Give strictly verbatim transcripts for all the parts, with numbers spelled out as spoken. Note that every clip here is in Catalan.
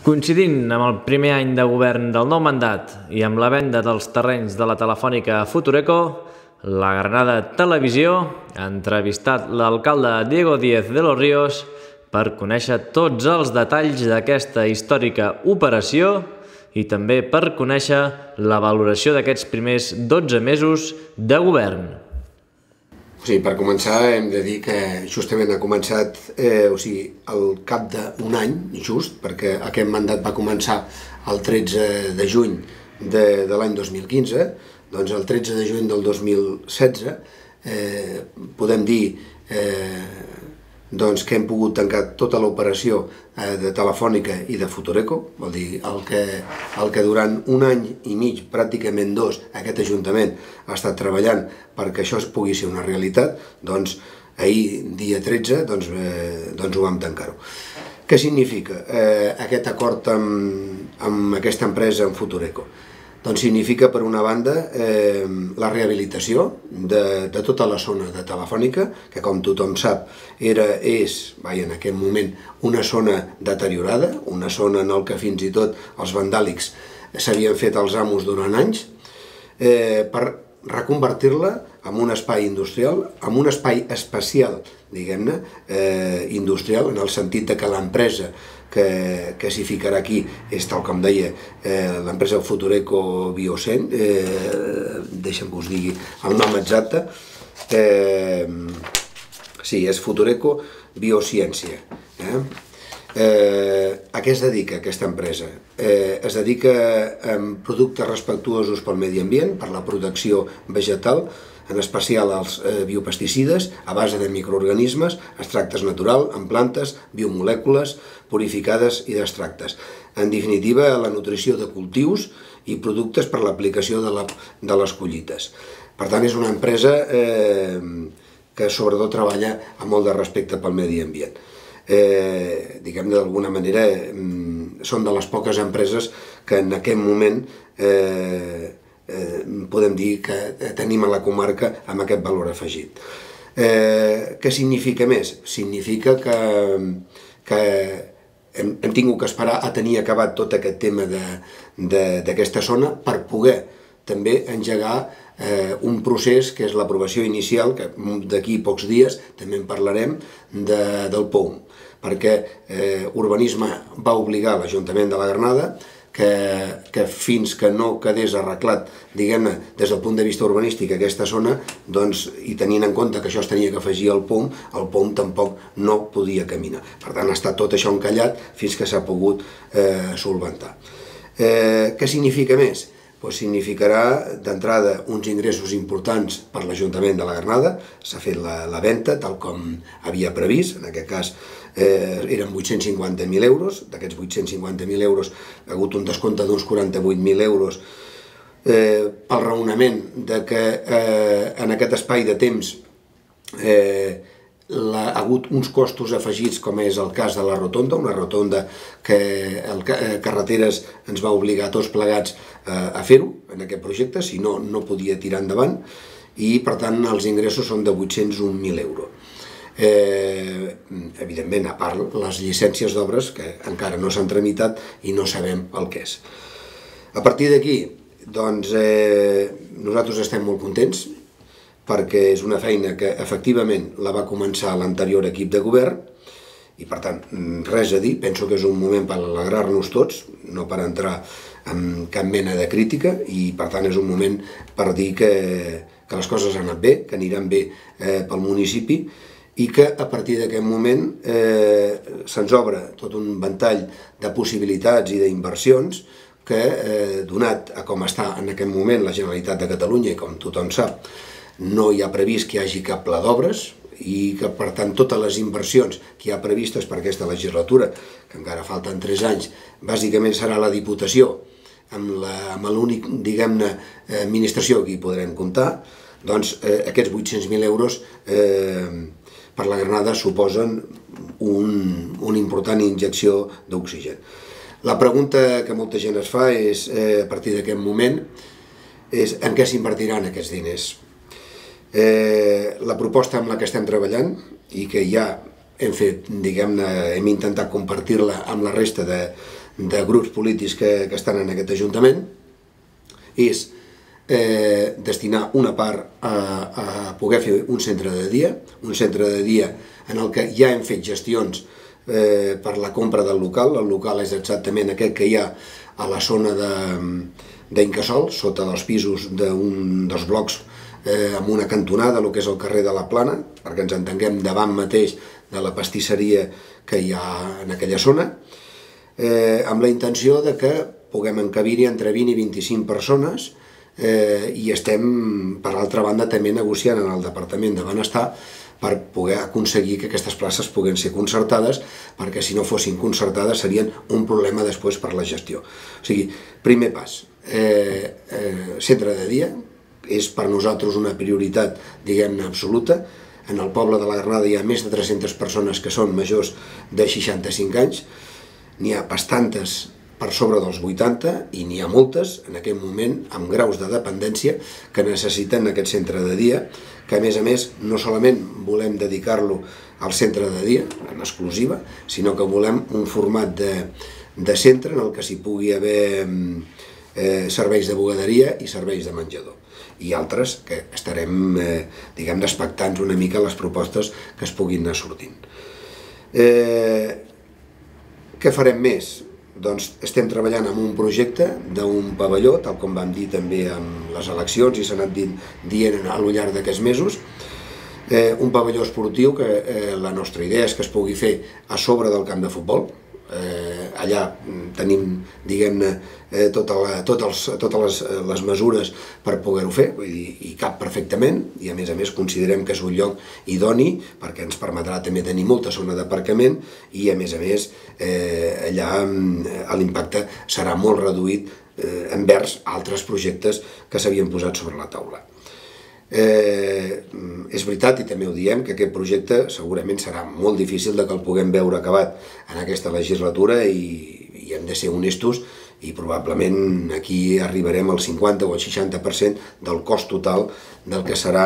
Coincidint amb el primer any de govern del nou mandat i amb la venda dels terrenys de la Telefònica a Futureco, la Granada Televisió ha entrevistat l'alcalde Diego Díez de los Ríos per conèixer tots els detalls d'aquesta històrica operació i també per conèixer la valoració d'aquests primers dotze mesos de govern. O sigui, per començar hem de dir que justament ha començat eh, o sigui, al cap d'un any, just, perquè aquest mandat va començar el tretze de juny de, de l'any dos mil quinze, doncs el tretze de juny del dos mil setze eh, podem dir eh, doncs, que hem pogut tancar tota l'operació eh, de Telefònica i de Futureco, vol dir el que, el que durant un any i mig, pràcticament dos, aquest Ajuntament ha estat treballant perquè això es pugui ser una realitat, doncs ahir, dia tretze, doncs, eh, doncs ho vam tancar-ho. Què significa eh, aquest acord amb, amb aquesta empresa, amb Futureco? Doncs significa, per una banda, eh, la rehabilitació de, de tota la zona de Telefònica, que com tothom sap era, és, vaja, en aquest moment, una zona deteriorada, una zona en què fins i tot els vandàlics s'havien fet els amos durant anys, eh, per reconvertir-la en un espai industrial, en un espai espacial, diguem-ne, eh, industrial, en el sentit de que l'empresa que, que s'hi ficarà aquí és, tal com deia, eh, l'empresa Futureco Biocent, eh, deixa'm que us digui el nom exacte, eh, sí, és Futureco Biociència. Eh? Eh, a què es dedica aquesta empresa? Eh, es dedica a productes respectuosos pel medi ambient, per la protecció vegetal, en especial als eh, biopesticides a base de microorganismes, extractes naturals, en plantes, biomolècules purificades i d'extractes. En definitiva, la nutrició de cultius i productes per l'aplicació de, la, de les collites. Per tant, és una empresa eh, que sobretot treballa amb molt de respecte pel medi ambient. Eh, diguem d'alguna manera, eh, són de les poques empreses que en aquest moment eh, eh, podem dir que tenim a la comarca amb aquest valor afegit. Eh, què significa més? Significa que, que hem, hem tingut que esperar a tenir acabat tot aquest tema d'aquesta zona per poder també engegar eh, un procés que és l'aprovació inicial, que d'aquí pocs dies també en parlarem, de, del P O U M, perquè eh, Urbanisme va obligar l'Ajuntament de la Granada que, que fins que no quedés arreglat, diguem-ne, des del punt de vista urbanístic aquesta zona, doncs, i tenint en compte que això es tenia que afegir al P O U M, el P O U M tampoc no podia caminar. Per tant, ha estat tot això encallat fins que s'ha pogut eh, solventar. Eh, què significa més? Pues significarà d'entrada uns ingressos importants per l'Ajuntament de la Granada, s'ha fet la, la venda tal com havia previst, en aquest cas eh, eren vuit-cents cinquanta mil euros, d'aquests vuit-cents cinquanta mil euros ha hagut un descompte d'uns quaranta-vuit mil euros eh, pel raonament de que eh, en aquest espai de temps eh, ha hagut uns costos afegits, com és el cas de la rotonda, una rotonda que el Carreteres ens va obligar a tots plegats a fer-ho en aquest projecte, si no, no podia tirar endavant, i per tant els ingressos són de vuit-cents un mil euros. Eh, evidentment, a part les llicències d'obres que encara no s'han tramitat i no sabem el que és. A partir d'aquí, doncs, eh, nosaltres estem molt contents, perquè és una feina que efectivament la va començar l'anterior equip de govern i per tant res a dir, penso que és un moment per alegrar-nos tots, no per entrar en cap mena de crítica i per tant és un moment per dir que, que les coses han anat bé, que aniran bé eh, pel municipi i que a partir d'aquest moment eh, se'ns obre tot un ventall de possibilitats i d'inversions que, eh, donat a com està en aquest moment la Generalitat de Catalunya i com tothom sap, no hi ha previst que hi hagi cap pla d'obres i que, per tant, totes les inversions que hi ha previstes per aquesta legislatura, que encara falten tres anys, bàsicament serà la Diputació, amb l'únic, diguem-ne, administració que hi podrem comptar, doncs eh, aquests vuit-cents mil euros eh, per la Granada suposen un, una important injecció d'oxigen. La pregunta que molta gent es fa és, eh, a partir d'aquest moment, és en què s'invertiran aquests diners. Eh, la proposta amb la que estem treballant i que ja hem fet, diguem-ne, hem intentat compartir-la amb la resta de, de grups polítics que, que estan en aquest Ajuntament, és eh, destinar una part a, a poder fer un centre de dia, un centre de dia en el que ja hem fet gestions eh, per la compra del local. El local és exactament aquest que hi ha a la zona d'Incasòl, sota dels pisos d'un dels blocs eh, amb una cantonada, el que és el carrer de la Plana, perquè ens entenguem davant mateix de la pastisseria que hi ha en aquella zona, eh, amb la intenció de que puguem encabir-hi entre vint i vint-i-cinc persones eh, i estem, per altra banda, també negociant en el Departament de Benestar per poder aconseguir que aquestes places puguen ser concertades, perquè si no fossin concertades serien un problema després per la gestió. O sigui, primer pas, eh, eh, centre de dia, és per nosaltres una prioritat, diguem-ne, absoluta. En el poble de la Granada hi ha més de tres-centes persones que són majors de seixanta-cinc anys, n'hi ha bastantes per sobre dels vuitanta i n'hi ha moltes en aquest moment amb graus de dependència que necessiten aquest centre de dia, que a més a més no solament volem dedicar-lo al centre de dia en exclusiva, sinó que volem un format de, de centre en el que s'hi pugui haver eh, serveis de bugaderia i serveis de menjador, i altres que estarem eh, diguem expectants una mica les propostes que es puguin anar sortint. Eh, què farem més? Doncs estem treballant en un projecte d'un pavelló, tal com vam dir també amb les eleccions i s'ha anat dient al llarg d'aquests mesos, eh, un pavelló esportiu que eh, la nostra idea és que es pugui fer a sobre del camp de futbol. Eh, allà tenim, diguem-ne, eh, tota la, tot els, totes les, les mesures per poder-ho fer, vull dir, i cap perfectament, i a més a més considerem que és un lloc idoni perquè ens permetrà també tenir molta zona d'aparcament i a més a més eh, allà eh, l'impacte serà molt reduït eh, envers altres projectes que s'havien posat sobre la taula. Eh, és veritat, i també ho diem, que aquest projecte segurament serà molt difícil de que el puguem veure acabat en aquesta legislatura i, i hem de ser honestos i probablement aquí arribarem al cinquanta o al seixanta per cent del cost total del que serà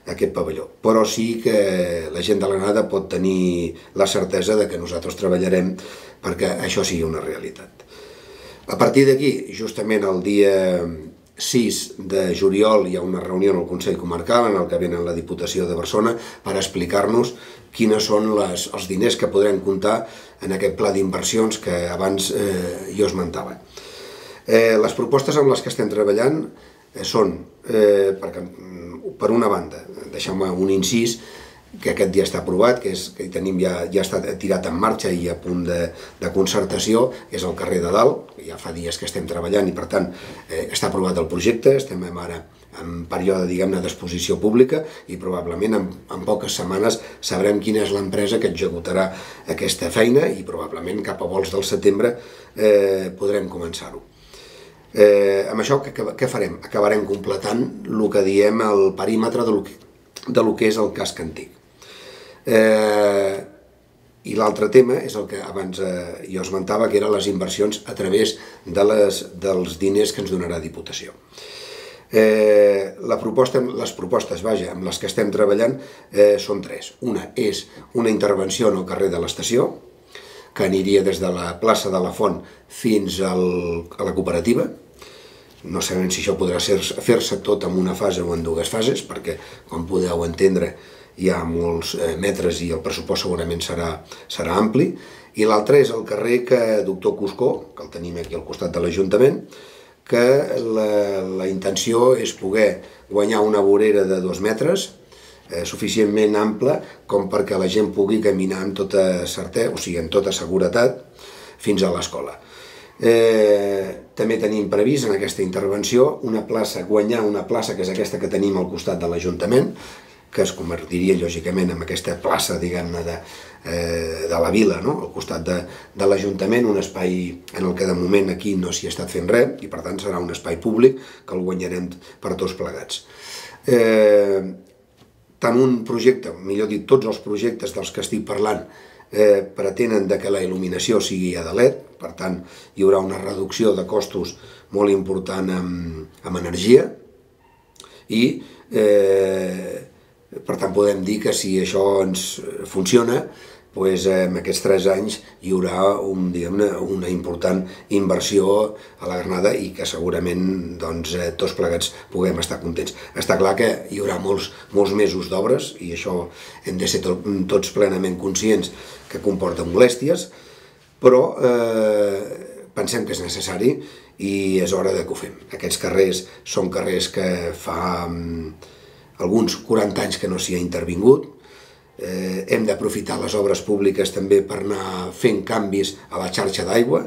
aquest pavelló. Però sí que la gent de la Granada pot tenir la certesa de que nosaltres treballarem perquè això sigui una realitat. A partir d'aquí, justament el dia sis de juliol hi ha una reunió en el Consell Comarcal en el que venen la Diputació de Barcelona per explicar-nos quines són les, els diners que podrem comptar en aquest pla d'inversions que abans eh, jo esmentava. Eh, les propostes amb les que estem treballant eh, són, eh, perquè, per una banda, deixeu-me un incís, que aquest dia està aprovat, que, és, que tenim ja, ja està tirat en marxa i a punt de, de concertació, és el carrer de Dalt, ja fa dies que estem treballant i per tant eh, està aprovat el projecte, estem ara en període, diguem-ne, d'exposició pública i probablement en, en poques setmanes sabrem quina és l'empresa que executarà aquesta feina i probablement cap a vols del setembre eh, podrem començar-ho. Eh, amb això què, què farem? Acabarem completant el que diem el perímetre de lo que, de lo que és el casc antic. Eh, I l'altre tema és el que abans eh, jo esmentava, que eren les inversions a través de les, dels diners que ens donarà Diputació. Eh, la proposta, les propostes, vaja, amb les que estem treballant eh, són tres. Una és una intervenció en el carrer de l'Estació, que aniria des de la plaça de la Font fins al, a la cooperativa. No sabem si això podrà fer-se tot en una fase o en dues fases, perquè, com podeu entendre, hi ha molts eh, metres i el pressupost segurament serà, serà ampli. I l'altre és el carrer que doctor Cuscó, que el tenim aquí al costat de l'Ajuntament, que la, la intenció és poder guanyar una vorera de dos metres, eh, suficientment ampla com perquè la gent pugui caminar amb tota certesa, o sigui, amb tota seguretat, fins a l'escola. Eh, també tenim previst en aquesta intervenció una plaça, guanyar una plaça que és aquesta que tenim al costat de l'Ajuntament, que es convertiria lògicament en aquesta plaça, diguem-ne, de, eh, de la vila, no? Al costat de, de l'Ajuntament, un espai en el que de moment aquí no s'hi ha estat fent res i per tant serà un espai públic que el guanyarem per tots plegats. Eh, tant un projecte, millor dit, tots els projectes dels que estic parlant eh, pretenen de que la il·luminació sigui a de L E D, per tant hi haurà una reducció de costos molt important amb, amb energia i eh, per tant podem dir que si això ens funciona doncs, en aquests tres anys hi haurà un, diguem-ne, una important inversió a la Granada i que segurament doncs, tots plegats puguem estar contents. Està clar que hi haurà molts, molts mesos d'obres i això hem de ser tot, tots plenament conscients que comporta molèsties, però eh, pensem que és necessari i és hora de que ho fem. Aquests carrers són carrers que fa um, alguns quaranta anys que no s'hi ha intervingut. Eh, hem d'aprofitar les obres públiques també per anar fent canvis a la xarxa d'aigua,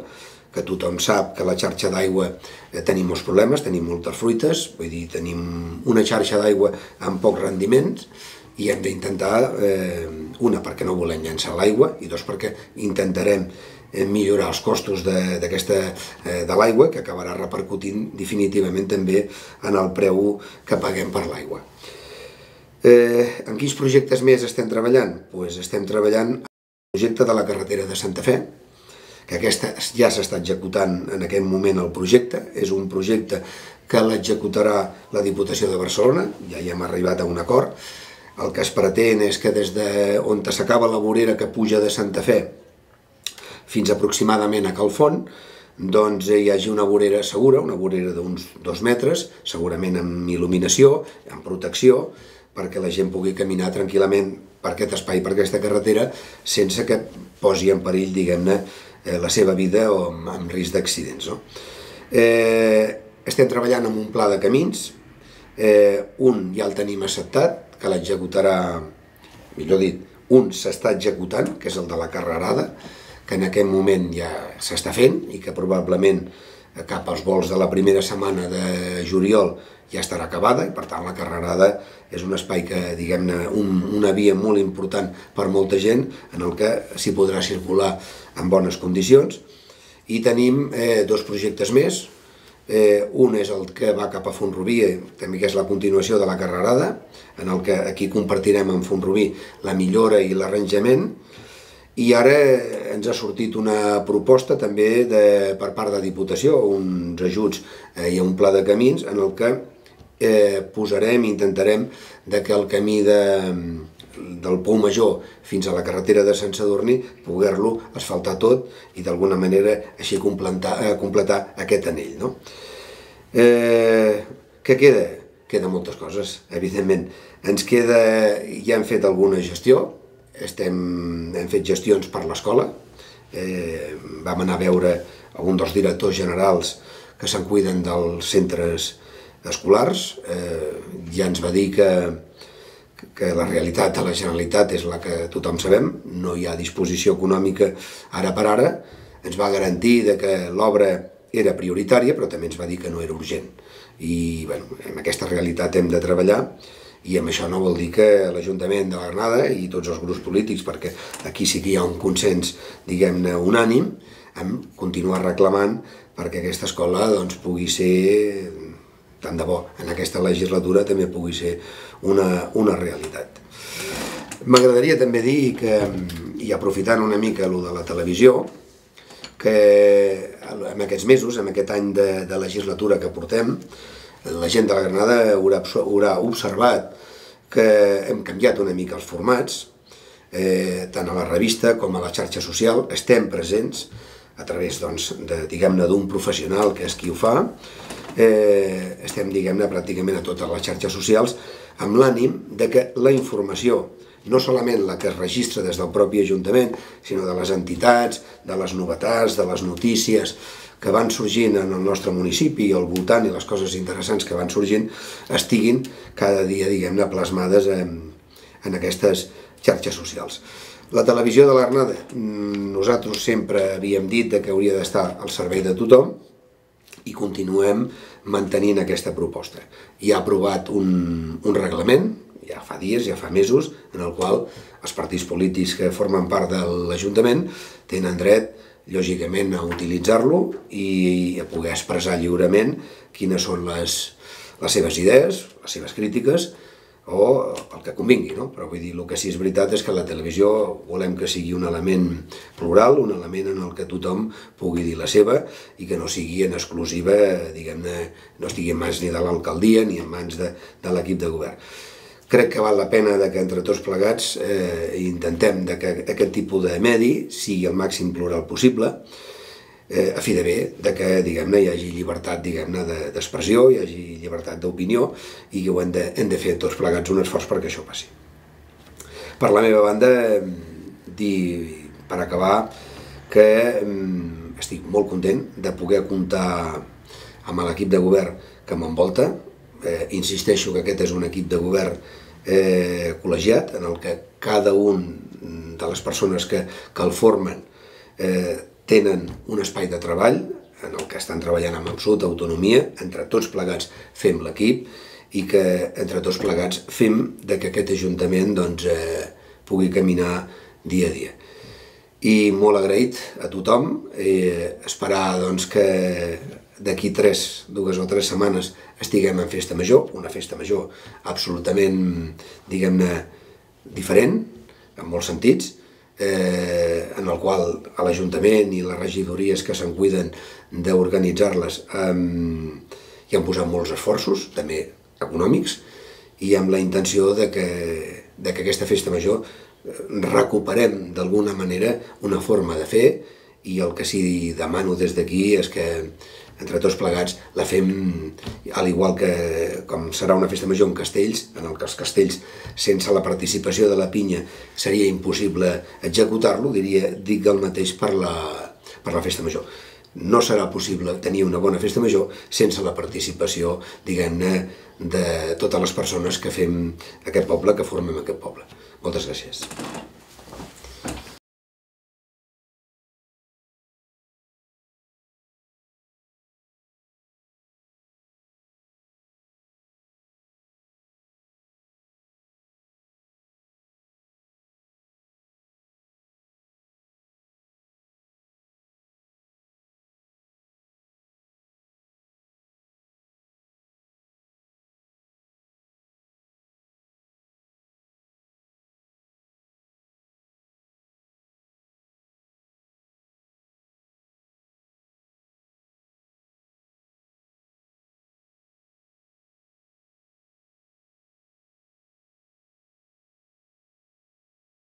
que tothom sap que a la xarxa d'aigua eh, tenim molts problemes, tenim moltes fruites, vull dir, tenim una xarxa d'aigua amb pocs rendiments i hem d'intentar, eh, una, perquè no volem llançar l'aigua, i dos, perquè intentarem eh, millorar els costos d'aquesta eh, de l'aigua, que acabarà repercutint definitivament també en el preu que paguem per l'aigua. Eh, en quins projectes més estem treballant? Pues estem treballant en el projecte de la carretera de Santa Fe, que aquesta ja s'està executant en aquest moment el projecte. És un projecte que l'executarà la Diputació de Barcelona, ja hi hem arribat a un acord. El que es pretén és que des d'on s'acaba la vorera que puja de Santa Fe fins aproximadament a Calfont, doncs hi hagi una vorera segura, una vorera d'uns dos metres, segurament amb il·luminació, amb protecció, perquè la gent pugui caminar tranquil·lament per aquest espai, per aquesta carretera, sense que posi en perill, diguem-ne, la seva vida o amb risc d'accidents. No? Eh, estem treballant en un pla de camins, eh, un ja el tenim acceptat, que l'executarà, millor dit, un s'està executant, que és el de la Carrerada, que en aquest moment ja s'està fent i que probablement cap als vols de la primera setmana de juliol ja estarà acabada, i per tant la Carrerada és un espai que, diguem-ne, un, una via molt important per molta gent, en el que s'hi podrà circular en bones condicions. I tenim eh, dos projectes més. Eh, un és el que va cap a Font-rubí, també que és la continuació de la Carrerada, en el que aquí compartirem amb Font-rubí la millora i l'arranjament. I ara ens ha sortit una proposta també de, per part de Diputació, uns ajuts eh, i un pla de camins en el que eh, posarem i intentarem de que el camí de, del Pou Major fins a la carretera de Sant Sadurní poder-lo asfaltar tot i d'alguna manera així completar, eh, completar aquest anell. No? Eh, què queda? Queda moltes coses, evidentment. Ens queda, ja hem fet alguna gestió, Estem, hem fet gestions per l'escola, eh, vam anar a veure algun dels directors generals que se'n cuiden dels centres escolars, eh, ja ens va dir que, que la realitat de la Generalitat és la que tothom sabem, no hi ha disposició econòmica ara per ara, ens va garantir de que l'obra era prioritària, però també ens va dir que no era urgent. I bueno, amb aquesta realitat hem de treballar, i amb això no vol dir que l'Ajuntament de la Granada i tots els grups polítics, perquè aquí sí que hi ha un consens, diguem-ne, unànim, en continuar reclamant perquè aquesta escola doncs, pugui ser, tant de bo, en aquesta legislatura també pugui ser una, una realitat. M'agradaria també dir que, i aprofitant una mica allò de la televisió, que en aquests mesos, en aquest any de, de legislatura que portem, la gent de la Granada haurà, haurà observat que hem canviat una mica els formats, eh, tant a la revista com a la xarxa social, estem presents a través, doncs, de, diguem-ne, d'un professional que és qui ho fa, eh, estem, diguem-ne, pràcticament a totes les xarxes socials, amb l'ànim de que la informació, no solament la que es registra des del propi Ajuntament, sinó de les entitats, de les novetats, de les notícies que van sorgint en el nostre municipi i al voltant i les coses interessants que van sorgint estiguin cada dia, diguem-ne, plasmades en, en aquestes xarxes socials. La televisió de la Granada, nosaltres sempre havíem dit que hauria d'estar al servei de tothom i continuem mantenint aquesta proposta. Hi ha aprovat un, un reglament, ja fa dies, ja fa mesos, en el qual els partits polítics que formen part de l'Ajuntament tenen dret, lògicament, a utilitzar-lo i a poder expressar lliurement quines són les, les seves idees, les seves crítiques o el que convingui, no? Però vull dir, el que sí és veritat és que la televisió volem que sigui un element plural, un element en el que tothom pugui dir la seva i que no sigui en exclusiva, diguem-ne, no estigui en mans ni de l'alcaldia ni en mans de, de l'equip de govern. crec que val la pena que entre tots plegats intentem que aquest tipus de medi sigui el màxim plural possible, a fi de bé que hi hagi llibertat d'expressió, hi hagi llibertat d'opinió i que hem de fer tots plegats un esforç perquè això passi. Per la meva banda, dir, per acabar, que estic molt content de poder comptar amb l'equip de govern que m'envolta. Insisteixo que aquest és un equip de govern col·legiat en el que cada un de les persones que el formen tenen un espai de treball en el que estan treballant amb absoluta autonomia, entre tots plegats fem l'equip i que entre tots plegats fem que aquest Ajuntament pugui caminar dia a dia. I molt agraït a tothom, esperar que d'aquí tres, dues o tres setmanes estiguem en festa major, una festa major absolutament, diguem-ne, diferent, en molts sentits, en el qual l'Ajuntament i les regidories que se'n cuiden d'organitzar-les hi han posat molts esforços, també econòmics, i amb la intenció que aquesta festa major recuperem d'alguna manera una forma de fer, i el que sí demano des d'aquí és que entre tots plegats la fem, al igual que com serà una festa major en castells, en què els castells sense la participació de la pinya seria impossible executar-lo, dic el mateix per la festa major. No serà possible tenir una bona festa major sense la participació, diguem-ne, de totes les persones que fem aquest poble, que formem aquest poble. Moltes gràcies.